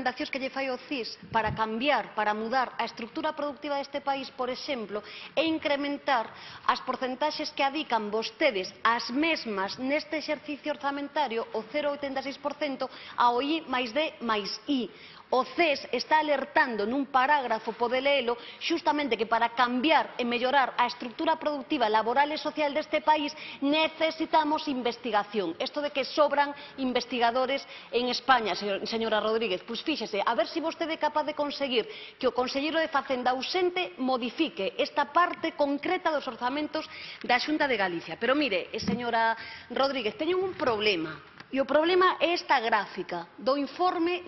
recomendacións que lle fai o CIS para cambiar, para mudar a estrutura productiva deste país, por exemplo, é incrementar as porcentaxes que adican vostedes as mesmas neste exercicio orzamentario, o 0,86%, ao I máis D máis I. O CES está alertando nun parágrafo, pode leelo, xustamente que para cambiar e mellorar a estrutura productiva, laboral e social deste país necesitamos investigación. Isto de que sobran investigadores en España, señora Rodríguez, pois fíxese, a ver se vostede é capaz de conseguir que o conselleiro de Facenda ausente modifique esta parte concreta dos orzamentos da Xunta de Galicia. Pero mire, señora Rodríguez, teñen un problema. E o problema é esta gráfica do informe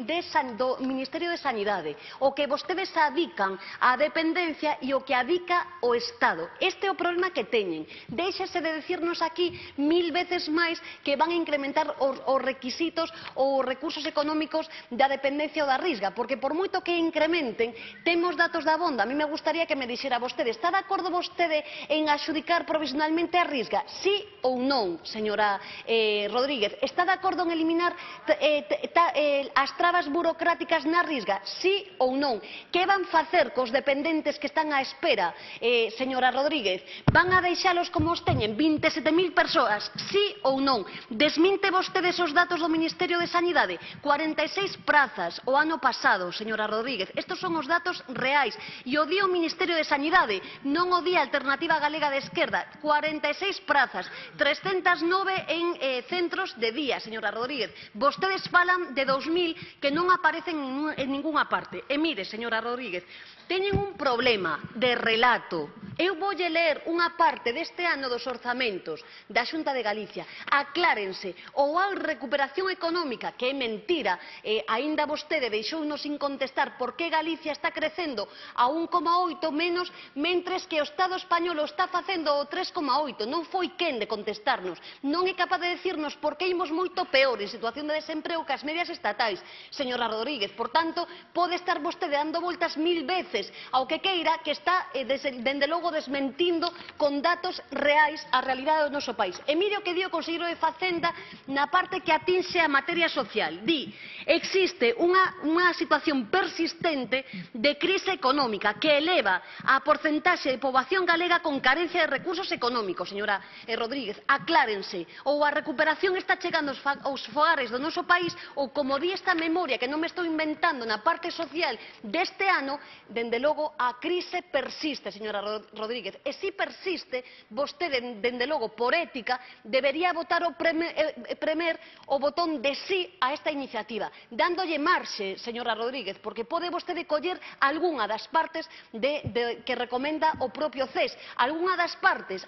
do Ministerio de Sanidade, o que vostedes adican á dependencia e o que adica o Estado. Este é o problema que teñen. Déixese de decirnos aquí 1000 veces máis que van a incrementar os requisitos ou os recursos económicos da dependencia ou da Risga, porque por moito que incrementen, temos datos da Bonda. A mí me gustaría que me dixera vostede, está de acordo vostede en adxudicar provisionalmente a Risga? Sí ou non, señora Rodríguez? Está de acordo en eliminar as trabas burocráticas na Risga? Sí ou non? Que van facer cos dependentes que están á espera, señora Rodríguez? Van a deixalos como os teñen? 27.000 persoas? Sí ou non? Desminte vostede esos datos do Ministerio de Sanidade? 46 prazas o ano pasado, señora Rodríguez. Estos son os datos reais. E o di o Ministerio de Sanidade, non o di a Alternativa Galega de Esquerda. 46 prazas, 309 en centros de día, señora Rodríguez. Vostedes falan de 2000 que non aparecen en ningunha parte. E mire, señora Rodríguez, teñen un problema de relato. Eu voulle ler unha parte deste ano dos orzamentos da Xunta de Galicia. Aclárense, ou a recuperación económica, que é mentira, aínda vostede deixounos sin contestar por que Galicia está crecendo a 1,8 menos, mentres que o Estado español o está facendo o 3,8. Non foi quen de contestarnos. Non é capaz de decirnos por que imos moito peor en situación de desemprego que as medias estatais, señora Rodríguez. Por tanto, pode estar vostede dando voltas 1000 veces ao que queira, que está, dende logo, desmentindo con datos reais a realidade do noso país. E mire o que di o conselleiro de Facenda na parte que atinxe a materia social. Di, existe unha situación persistente de crise económica que eleva a porcentaxe de poboación galega con carencia de recursos económicos. Señora Rodríguez, aclárense, ou a recuperación está chegando aos fogares do noso país, ou como di esta memoria, que non me estou inventando, na parte social deste ano, dende logo a crise persiste, señora Rodríguez. E se persiste, vostede, dende logo, por ética, debería votar o premer o botón de sí a esta iniciativa, dándolle marxe, señora Rodríguez, porque pode vostede coller algunha das partes que recomenda o propio CES, algunha das partes,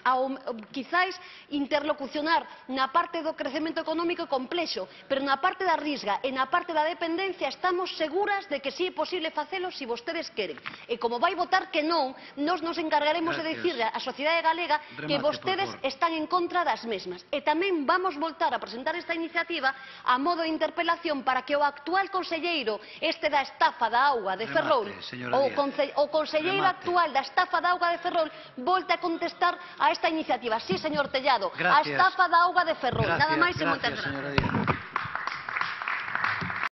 quizáis interlocucionar na parte do crecemento económico complexo, pero na parte da Risga e na parte da dependencia estamos seguras de que si é posible facelo se vostedes queren. E como vai votar que non, nos encargaremos de dicirle á sociedade galega que vostedes están en contra das mesmas. E tamén vamos voltar a presentar esta iniciativa a modo de interpelación para que o actual conselleiro, este da estafa da auga de Ferrol, o conselleiro actual da estafa da auga de Ferrol, volte a contestar a esta iniciativa. Sí, señor Tellado, a estafa da auga de Ferrol. Nada máis e moitas gracias.